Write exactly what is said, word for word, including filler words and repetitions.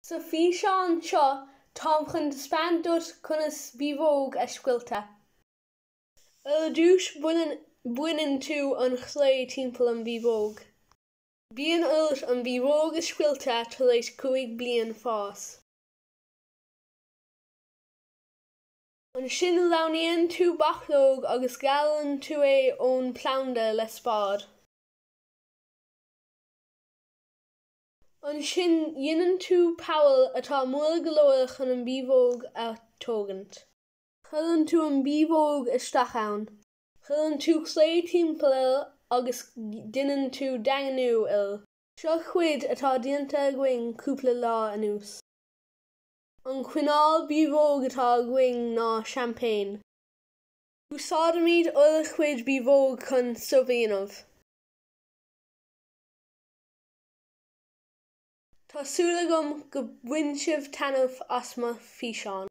Sa físeán seo táim chun taispeáint duit conas biabhóg a scoilteadh. Ar dtús baineann tú an chlé timpeall an bhiabhóg. Bíonn ort an bhiabhóg a scoilteadh tar éis cúig bliain fás. Ansin roghnaíonn tú bachlóg agus gearrann tú é ón planda le spád. Ansin déanann tú poll atá mór go leor chun an bhiabhóg a thógaint. Cuireann tú an bhiabhóg isteach ann. Cuireann tú cré timpeall air agus déanann tú daingniú air. Seo cuid atá déanta againn cúpla lá anuas. An cineál biabhóg atá againn ná seaimpéin. Úsáidimid ár gcuid biabhóg chun subh a dhéanamh. Tá súil agam go bhain sibh taitneamh as mo físeán.